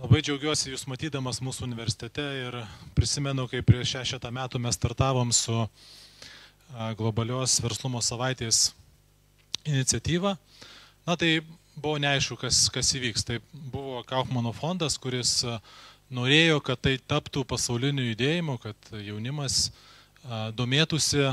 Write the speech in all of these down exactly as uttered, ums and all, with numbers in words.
Labai džiaugiuosi jūs matydamas mūsų universitete ir prisimenu, kai prieš šešetą metų mes startavom su globalios verslumo savaitės iniciatyva. Na tai buvo neaišku, kas, kas įvyks. Tai buvo Kaufmano fondas, kuris norėjo, kad tai taptų pasauliniu judėjimu, kad jaunimas domėtųsi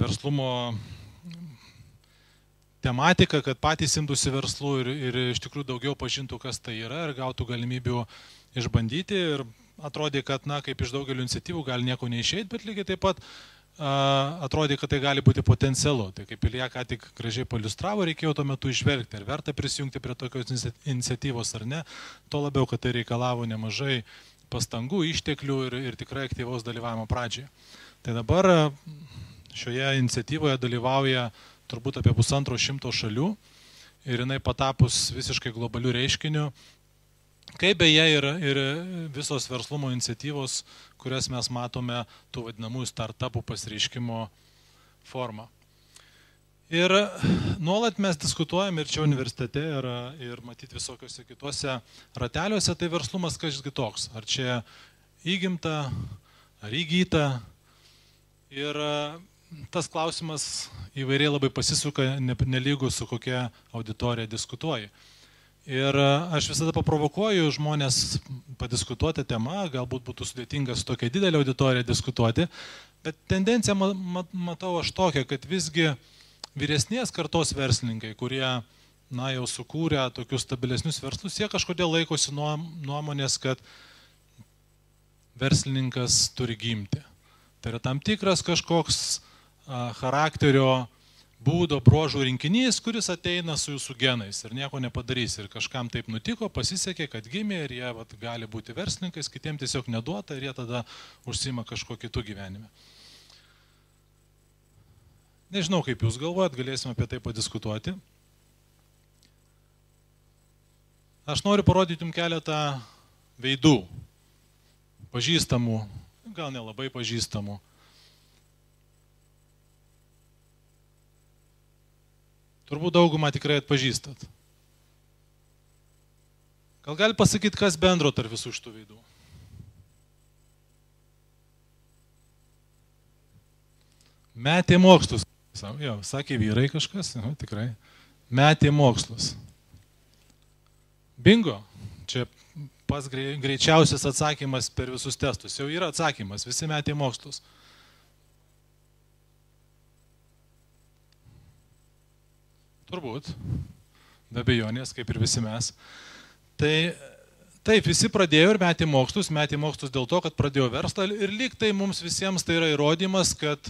verslumo tematika, kad patys imtųsi verslų ir, ir iš tikrųjų daugiau pažintų, kas tai yra ir gautų galimybių išbandyti. Ir atrodė, kad, na, kaip iš daugelio iniciatyvų gali nieko neišeiti, bet lygiai taip pat a, atrodė, kad tai gali būti potencialu. Tai kaip Ilja ką tik gražiai paliustravo, reikėjo tuo metu išvelgti, ar verta prisijungti prie tokios iniciatyvos ar ne. Tuo labiau, kad tai reikalavo nemažai pastangų, išteklių ir, ir tikrai aktyvaus dalyvavimo pradžioje. Tai dabar šioje iniciatyvoje dalyvauja turbūt apie pusantro šimto šalių ir jinai patapus visiškai globalių reiškinių, kaip beje ir, ir visos verslumo iniciatyvos, kurias mes matome tų vadinamųjų startupų pasireiškimo formą. Ir nuolat mes diskutuojam ir čia universitete, ir, ir matyti visokiuose kituose rateliuose, tai verslumas kažkas kitoks. Ar čia įgimta, ar įgyta. Ir tas klausimas įvairiai labai pasisuka, nelygų su kokia auditorija diskutuoji. Ir aš visada paprovokuoju žmonės padiskutuoti temą, galbūt būtų sudėtinga su tokia didelė auditorija diskutuoti, bet tendenciją matau aš tokią, kad visgi vyresnės kartos verslininkai, kurie na, jau sukūrė tokius stabilesnius verslus, jie kažkodėl laikosi nuomonės, kad verslininkas turi gimti. Tai yra tam tikras kažkoks charakterio būdo, bruožų rinkinys, kuris ateina su jūsų genais ir nieko nepadarys. Ir kažkam taip nutiko, pasisekė, kad gimė ir jie vat, gali būti verslininkais, kitiems tiesiog neduota ir jie tada užsima kažko kitų gyvenime. Nežinau, kaip jūs galvojat, galėsime apie tai padiskutuoti. Aš noriu parodyti jums keletą veidų, pažįstamų, gal nelabai pažįstamų. Turbūt daugumą tikrai atpažįstat. Gal gali pasakyti, kas bendro tarp visų šitų veidų? Metė mokslus. Jo, sakė vyrai kažkas, jo, tikrai. Metė mokslus. Bingo. Čia pats greičiausias atsakymas per visus testus. Jau yra atsakymas. Visi metė mokslus. Turbūt, be abejonės, kaip ir visi mes. Tai taip, visi pradėjo ir metė mokslus, metė mokslus dėl to, kad pradėjo verslą ir lyg tai mums visiems tai yra įrodymas, kad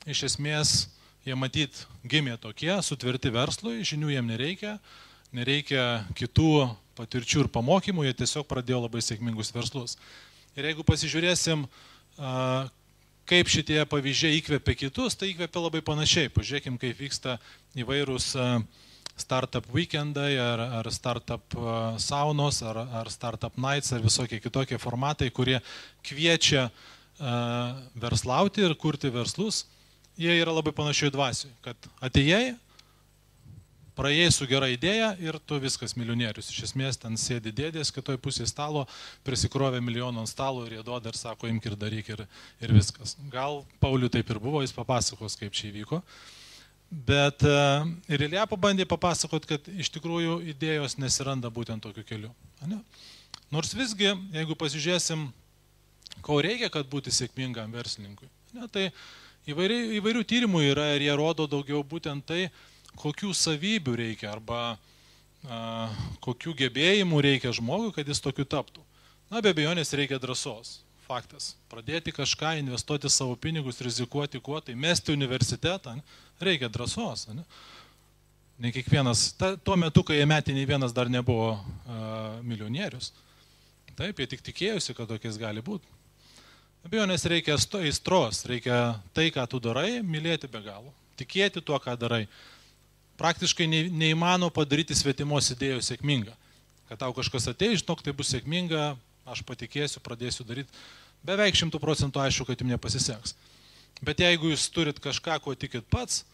iš esmės jie matyt gimė tokie, sutverti verslui, žinių jiem nereikia, nereikia kitų patirčių ir pamokymų, jie tiesiog pradėjo labai sėkmingus verslus. Ir jeigu pasižiūrėsim, kaip šitie pavyzdžiai įkvėpia kitus, tai įkvėpia labai panašiai. Pažiūrėkim, kaip vyksta įvairūs startup weekendai, ar, ar startup saunos, ar, ar startup nights, ar visokie kitokie formatai, kurie kviečia verslauti ir kurti verslus. Jie yra labai panašiai dvasiui, kad atėjai, praėjai su gera idėja ir tu viskas milijonierius. Iš esmės ten sėdi dėdės, kitoj pusėje stalo, prisikrovė milijoną ant stalo ir jie duoda ir sako, imk ir daryk ir, ir viskas. Gal Pauliui taip ir buvo, jis papasakos, kaip čia įvyko. Bet ir Ilja pabandė papasakot, kad iš tikrųjų idėjos nesiranda būtent tokiu keliu. Ne? Nors visgi, jeigu pasižiūrėsim, ko reikia, kad būti sėkmingam verslininkui, ne, tai įvairių, įvairių tyrimų yra ir jie rodo daugiau būtent tai, kokių savybių reikia arba a, kokių gebėjimų reikia žmogui, kad jis tokiu taptų. Na, be abejonės reikia drąsos. Faktas. Pradėti kažką, investuoti savo pinigus, rizikuoti kuo, tai mesti universitetą, ne? Reikia drąsos. Ne, ne kiekvienas, ta, tuo metu, kai jie metė, nei vienas dar nebuvo a, milijonierius. Taip, jie tik tikėjusi, kad tokiais gali būti. Be abejonės reikia aistros, reikia tai, ką tu darai, mylėti be galo. Tikėti tuo, ką darai. Praktiškai neįmanoma padaryti svetimos idėjos sėkmingą. Kad tau kažkas ateis, žinok, tai bus sėkminga, aš patikėsiu, pradėsiu daryti. Beveik šimtų procentų aišku, kad jums nepasiseks. Bet jeigu jūs turit kažką, ko tikit pats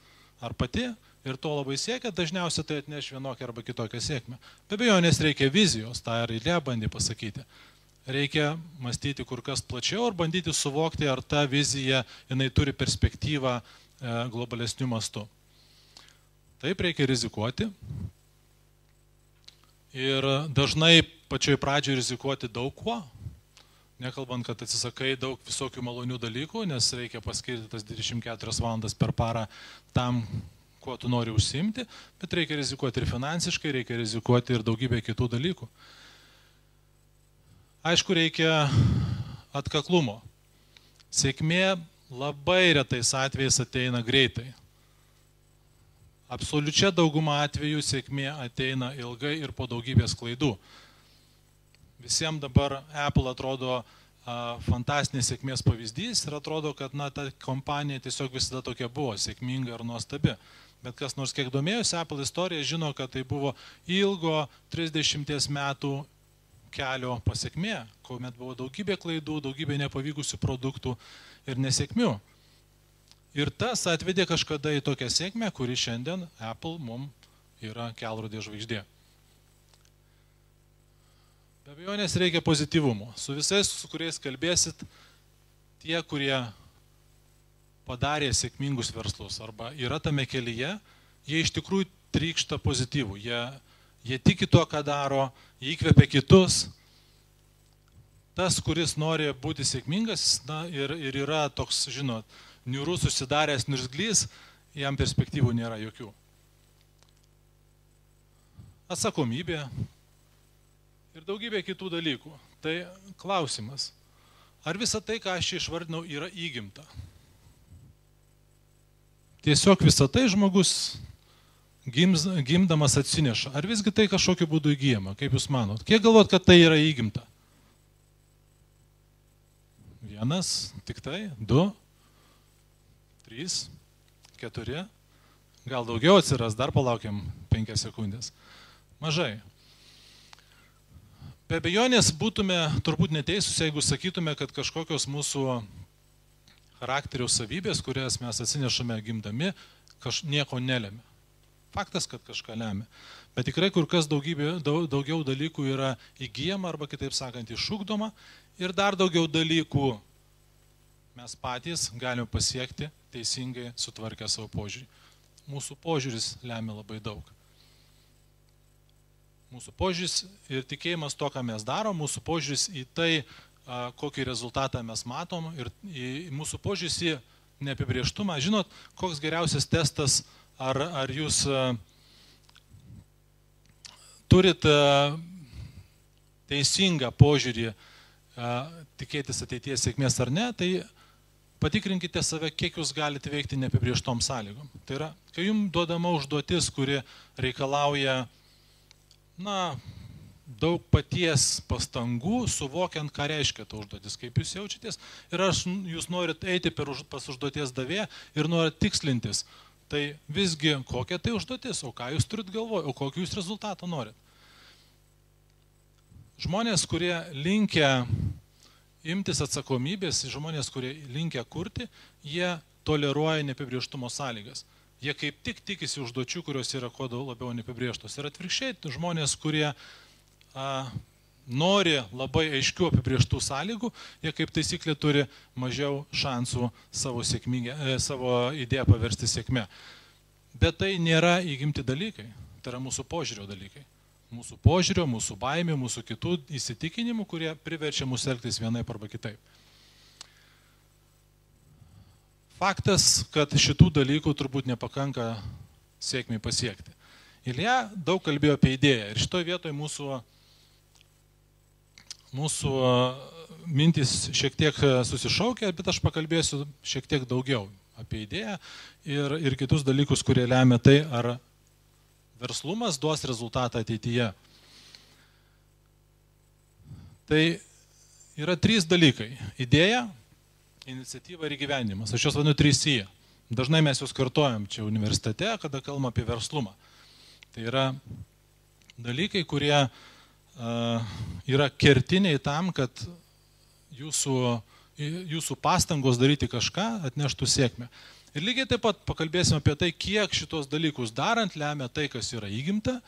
ar pati, ir to labai siekia, dažniausiai tai atneš vienokią arba kitokią sėkmę. Be abejonės reikia vizijos, tą ir Ilja bandė pasakyti. Reikia mąstyti kur kas plačiau ir bandyti suvokti, ar ta vizija jinai turi perspektyvą e, globalesniu mastu. Taip, reikia rizikuoti. Ir dažnai pačioj pradžioje rizikuoti daug kuo. Nekalbant, kad atsisakai daug visokių malonių dalykų, nes reikia paskirti tas dvidešimt keturias valandas per parą tam, kuo tu nori užsiimti, bet reikia rizikuoti ir finansiškai, reikia rizikuoti ir daugybę kitų dalykų. Aišku, reikia atkaklumo. Sėkmė labai retais atvejais ateina greitai. Absoliučia dauguma atvejų sėkmė ateina ilgai ir po daugybės klaidų. Visiems dabar Apple atrodo a, fantastinės sėkmės pavyzdys ir atrodo, kad na, ta kompanija tiesiog visada tokia buvo, sėkminga ir nuostabi. Bet kas nors kiek domėjosi Apple istoriją, žino, kad tai buvo ilgo trisdešimties metų kelio pasiekmė, kuomet buvo daugybė klaidų, daugybė nepavykusių produktų ir nesėkmių. Ir tas atvedė kažkada į tokią sėkmę, kuri šiandien Apple mums yra kelrodė žvaigždė. Be abejonės reikia pozityvumo. Su visais, su kuriais kalbėsit, tie, kurie padarė sėkmingus verslus arba yra tame kelyje, jie iš tikrųjų trykšta pozityvų. Jie, jie tiki tuo, ką daro, jie įkvepia kitus. Tas, kuris nori būti sėkmingas na, ir, ir yra toks, žinot, niūrus susidaręs niurzglys, jam perspektyvų nėra jokių. Atsakomybė ir daugybė kitų dalykų. Tai klausimas, ar visa tai, ką aš čia išvardinau, yra įgimta? Tiesiog visą tai žmogus gims, gimdamas atsineša. Ar visgi tai kažkokiu būdu įgyjama? Kaip jūs manot? Kiek galvot, kad tai yra įgimta? Vienas, tik tai, du, trys, keturi, gal daugiau atsiras, dar palaukiam penkias sekundės. Mažai. Be abejonės būtume turbūt neteisūs, jeigu sakytume, kad kažkokios mūsų charakterio savybės, kurias mes atsinešame gimdami, kaž, nieko nelemia. Faktas, kad kažką lemia. Bet tikrai kur kas daugybė, daug, daugiau dalykų yra įgyjama arba kitaip sakant išugdoma ir dar daugiau dalykų mes patys galime pasiekti teisingai sutvarkę savo požiūrį. Mūsų požiūris lemia labai daug. Mūsų požiūris ir tikėjimas to, ką mes darom, mūsų požiūris į tai, kokį rezultatą mes matom ir į mūsų požiūris į neapibrėžtumą. Žinot, koks geriausias testas, ar, ar jūs turit teisingą požiūrį tikėtis ateities sėkmės ar ne, tai patikrinkite save, kiek jūs galite veikti neapibrėžtom sąlygom. Tai yra, kai jums duodama užduotis, kuri reikalauja na, daug paties pastangų, suvokiant, ką reiškia ta užduotis, kaip jūs jaučiatės. Ir aš, jūs norit eiti per, pas užduoties davėją ir norit tikslintis. Tai visgi, kokia tai užduotis, o ką jūs turit galvoje, o kokį jūs rezultatą norit. Žmonės, kurie linkia imtis atsakomybės, žmonės, kurie linkia kurti, jie toleruoja neapibrėžtumo sąlygas. Jie kaip tik tikisi užduočių, kurios yra kuo labiau neapibrėžtos. Ir atvirkščiai, žmonės, kurie a, nori labai aiškių apibrėžtų sąlygų, jie kaip taisyklė turi mažiau šansų savo, sėkmingę, e, savo idėją paversti sėkme. Bet tai nėra įgimti dalykai, tai yra mūsų požiūrio dalykai. Mūsų požiūrio, mūsų baimė, mūsų kitų įsitikinimų, kurie priverčia mus elgtis vienaip arba kitaip. Faktas, kad šitų dalykų turbūt nepakanka sėkmiai pasiekti. Ilja daug kalbėjo apie idėją ir šitoje vietoje mūsų, mūsų mintys šiek tiek susišaukia, bet aš pakalbėsiu šiek tiek daugiau apie idėją ir, ir kitus dalykus, kurie lemia tai, ar verslumas duos rezultatą ateityje. Tai yra trys dalykai. Idėja, iniciatyva ir įgyvendinimas. Aš juos vadinu trys I. Dažnai mes juos kartojam čia universitete, kada kalbam apie verslumą. Tai yra dalykai, kurie uh, yra kertiniai tam, kad jūsų, jūsų pastangos daryti kažką atneštų sėkmę. Ir lygiai taip pat pakalbėsime apie tai, kiek šitos dalykus darant lemia tai, kas yra įgimta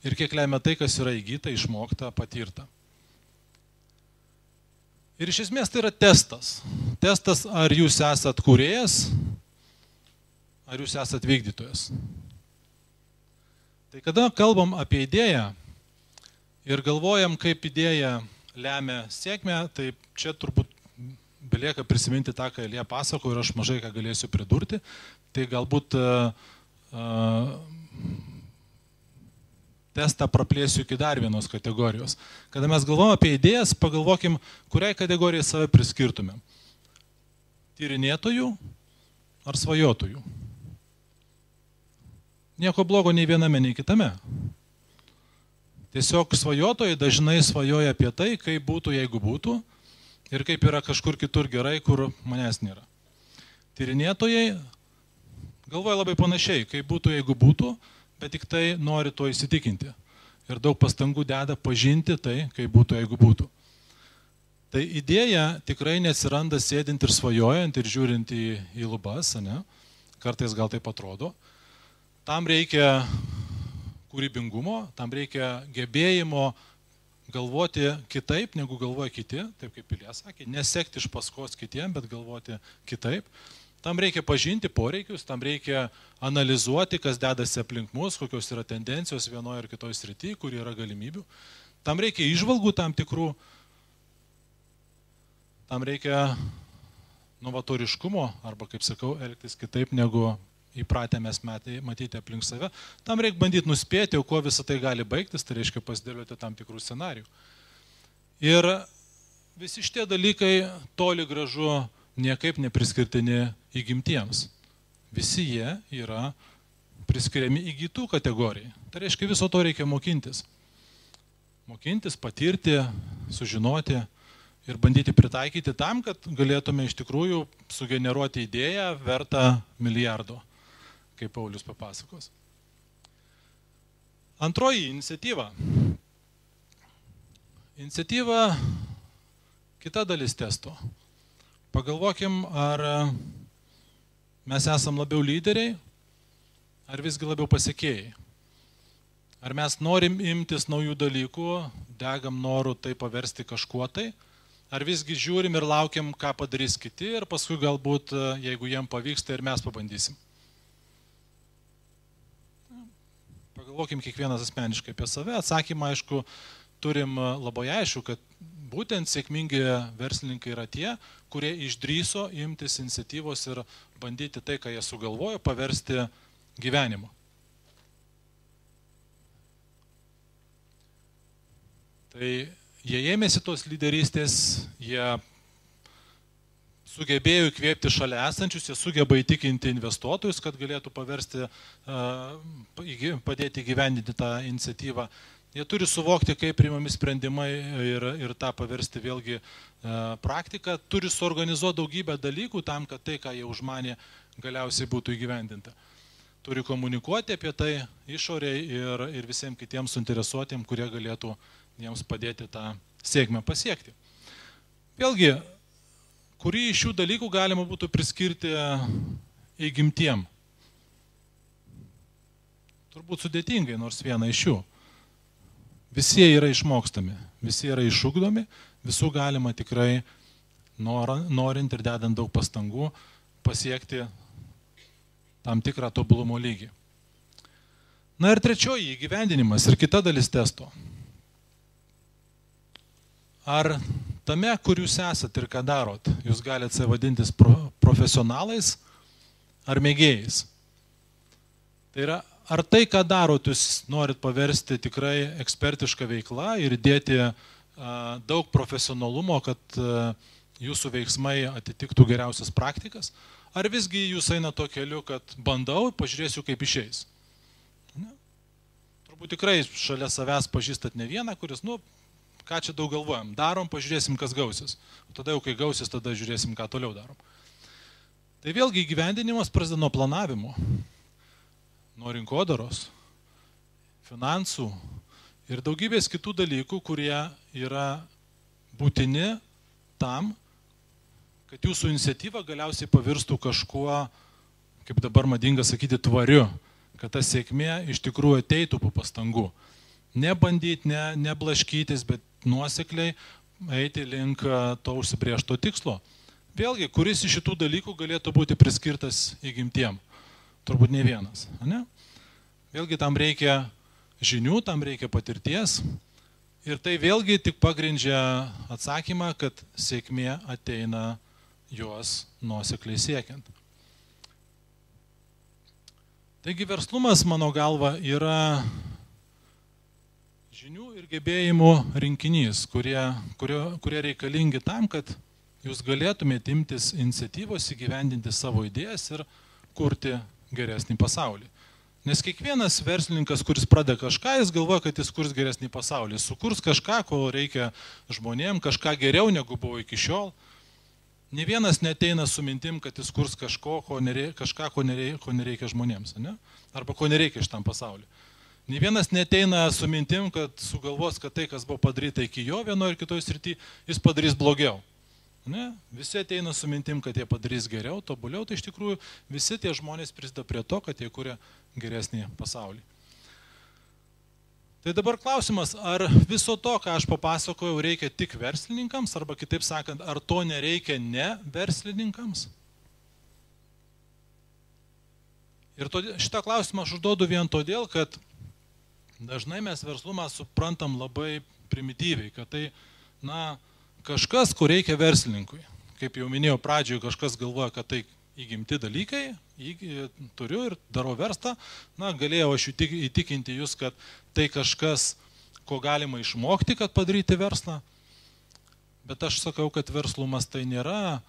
ir kiek lemia tai, kas yra įgyta, išmokta, patirta. Ir iš esmės tai yra testas. Testas, ar jūs esat kūrėjas, ar jūs esat vykdytojas. Tai kada kalbam apie idėją ir galvojam, kaip idėja lemia sėkmę, tai čia turbūt belieka prisiminti tą, ką Elija pasako ir aš mažai ką galėsiu pridurti. Tai galbūt uh, uh, testą praplėsiu iki dar vienos kategorijos. Kada mes galvom apie idėjas, pagalvokim, kuriai kategorijai save priskirtumėm. Tyrinėtojų ar svajotojų. Nieko blogo nei viename, nei kitame. Tiesiog svajotojai dažnai svajoja apie tai, kaip būtų, jeigu būtų, ir kaip yra kažkur kitur gerai, kur manęs nėra. Tyrinėtojai galvoja labai panašiai, kaip būtų, jeigu būtų, bet tik tai nori to įsitikinti. Ir daug pastangų deda pažinti tai, kaip būtų, jeigu būtų. Tai idėja tikrai neatsiranda sėdint ir svajojant ir žiūrint į, į lubas, ne? Kartais gal taip atrodo. Tam reikia kūrybingumo, tam reikia gebėjimo galvoti kitaip, negu galvoja kiti, taip kaip Ilja sakė, nesekti iš paskos kitiem, bet galvoti kitaip. Tam reikia pažinti poreikius, tam reikia analizuoti, kas dedasi aplink mus, kokios yra tendencijos vienoje ar kitoje srityje, kur yra galimybių. Tam reikia įžvalgų tam tikrų, tam reikia novatoriškumo, arba, kaip sakau, elgtis kitaip, negu įpratę mes matyti aplink save. Tam reikia bandyti nuspėti, kuo visą tai gali baigtis, tai reiškia pasidėlioti tam tikrų scenarijų. Ir visi šitie dalykai toli gražu niekaip nepriskirtini įgimtiems. Visi jie yra priskiriami įgytų kategorijai. Tai reiškia, viso to reikia mokintis. Mokintis, patirti, sužinoti ir bandyti pritaikyti tam, kad galėtume iš tikrųjų sugeneruoti idėją vertą milijardo, kaip Paulius papasakos. Antroji iniciatyva. Iniciatyva kita dalis testo. Pagalvokim, ar mes esam labiau lyderiai, ar visgi labiau pasiekėjai. Ar mes norim imtis naujų dalykų, degam noru tai paversti kažkuo tai, ar visgi žiūrim ir laukiam, ką padarys kiti ir paskui galbūt, jeigu jiem pavyksta, ir mes pabandysim. Pagalvokim kiekvienas asmeniškai apie save. Atsakymą, aišku, turim labai aišku, kad būtent sėkmingi verslininkai yra tie, kurie išdryso imtis iniciatyvos ir bandyti tai, ką jie sugalvojo, paversti gyvenimu. Tai jie ėmėsi tos lyderystės, jie sugebėjo įkvėpti šalia esančius, jie sugeba įtikinti investuotojus, kad galėtų paversti, padėti įgyvendinti tą iniciatyvą. Jie turi suvokti, kaip priimami sprendimai ir, ir tą paversti vėlgi praktiką. Turi suorganizuoti daugybę dalykų tam, kad tai, ką jie užmanė, galiausiai būtų įgyvendinta. Turi komunikuoti apie tai išoriai ir, ir visiems kitiems suinteresuotiem, kurie galėtų jiems padėti tą sėkmę pasiekti. Vėlgi, kurį iš šių dalykų galima būtų priskirti įgimtiem? Turbūt sudėtingai, nors vieną iš jų. Visi jie yra išmokstami, visi yra išugdomi, visų galima tikrai norint ir dedant daug pastangų pasiekti tam tikrą tobulumo lygį. Na ir trečioji, įgyvendinimas ir kita dalis testo. Ar tame, kur jūs esat ir ką darot, jūs galite save vadintis profesionalais ar mėgėjais? Tai yra, ar tai, ką darot, jūs norit paversti tikrai ekspertišką veiklą ir dėti a, daug profesionalumo, kad a, jūsų veiksmai atitiktų geriausias praktikas? Ar visgi jūs eina to keliu, kad bandau, pažiūrėsiu, kaip išeis? Ne? Turbūt tikrai šalia savęs pažįstat ne vieną, kuris, nu, ką čia daug galvojam, darom, pažiūrėsim, kas gausis. O tada jau, kai gausis, tada žiūrėsim, ką toliau darom. Tai vėlgi įgyvendinimas prasideda nuo planavimo, nuo rinkodaros, finansų ir daugybės kitų dalykų, kurie yra būtini tam, kad jūsų iniciatyva galiausiai pavirstų kažkuo kaip dabar madinga sakyti, tvariu, kad ta sėkmė iš tikrųjų ateitų po pastangų. Nebandyti, ne, neblaškytis, bet nuosekliai eiti link to užsibrėžto tikslo. Vėlgi, kuris iš šitų dalykų galėtų būti priskirtas įgimtiem? Turbūt ne vienas. Ne? Vėlgi tam reikia žinių, tam reikia patirties. Ir tai vėlgi tik pagrindžia atsakymą, kad sėkmė ateina juos nuosekliai siekiant. Taigi verslumas, mano galva, yra žinių ir gebėjimų rinkinys, kurie, kurie, kurie reikalingi tam, kad jūs galėtumėte imtis iniciatyvos įgyvendinti savo idėjas ir kurti geresnį pasaulį. Nes kiekvienas verslininkas, kuris pradeda kažką, jis galvoja, kad jis kurs geresnį pasaulį. Jis sukurs kažką, ko reikia žmonėm, kažką geriau negu buvo iki šiol. Nė vienas neteina su mintim, kad jis kurs kažko, ko nereikia, kažką, ko nereikia, ko nereikia žmonėms, ne? Arba ko nereikia šitam pasauliu. Nė vienas neteina su mintim, kad sugalvos, kad tai, kas buvo padaryta iki jo vienoje ir kitoje srityje, jis padarys blogiau. Ne? Visi ateina su mintim, kad jie padarys geriau, tobuliau, tai iš tikrųjų visi tie žmonės prisideda prie to, kad jie kuria geresnį pasaulį. Tai dabar klausimas, ar viso to, ką aš papasakojau, reikia tik verslininkams, arba kitaip sakant, ar to nereikia ne verslininkams? Ir todėl, šitą klausimą aš užduodu vien todėl, kad dažnai mes verslumą suprantam labai primityviai, kad tai, na, kažkas, ko reikia verslininkui. Kaip jau minėjau pradžioje, kažkas galvoja, kad tai įgimti dalykai, turiu ir darau verslą, na, galėjau aš įtikinti jūs, kad tai kažkas, ko galima išmokti, kad padaryti verslą, bet aš sakau, kad verslumas tai nėra a,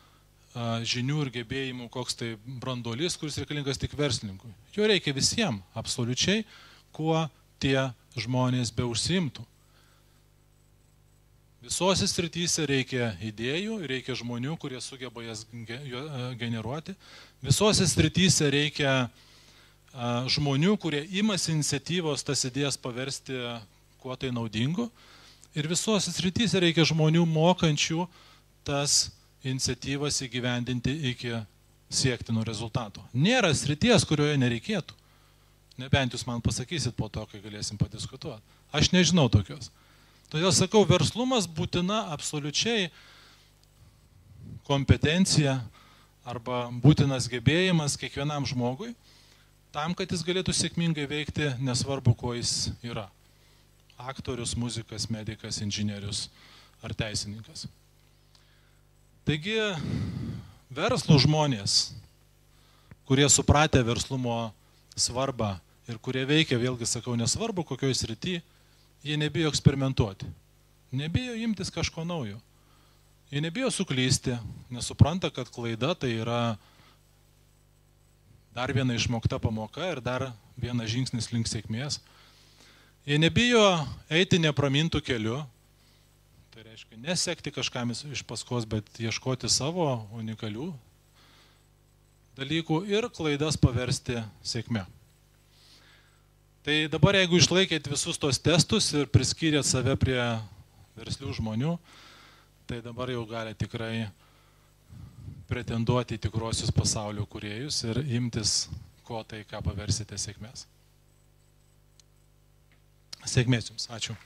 žinių ir gebėjimų koks tai branduolys, kuris reikalingas tik verslininkui. Jo reikia visiems, absoliučiai, kuo tie žmonės be užsiimtų. Visose srityse reikia idėjų, reikia žmonių, kurie sugeba jas generuoti. Visose srityse reikia žmonių, kurie imasi iniciatyvos tas idėjas paversti kuo tai naudingu. Ir visose srityse reikia žmonių mokančių tas iniciatyvas įgyvendinti iki siektinų rezultatų. Nėra srities, kurioje nereikėtų. Nebent jūs man pasakysit po to, kai galėsim padiskutuoti. Aš nežinau tokios. Todėl sakau, verslumas būtina absoliučiai kompetencija arba būtinas gebėjimas kiekvienam žmogui, tam, kad jis galėtų sėkmingai veikti, nesvarbu, kuo jis yra. Aktorius, muzikas, medikas, inžinierius ar teisininkas. Taigi, verslų žmonės, kurie supratę verslumo svarbą ir kurie veikia, vėlgi sakau, nesvarbu, kokioj srity, jie nebijo eksperimentuoti, nebijo imtis kažko naujo. Jie nebijo suklysti, nesupranta, kad klaida tai yra dar viena išmokta pamoka ir dar vienas žingsnis link sėkmės. Jie nebijo eiti nepramintų keliu, tai reiškia nesekti kažkam iš paskos, bet ieškoti savo unikalių dalykų ir klaidas paversti sėkme. Tai dabar, jeigu išlaikėt visus tos testus ir priskyrėt save prie verslių žmonių, tai dabar jau gali tikrai pretenduoti į tikruosius pasaulio kūrėjus ir imtis ko tai, ką paversite sėkmės. Sėkmės jums. Ačiū.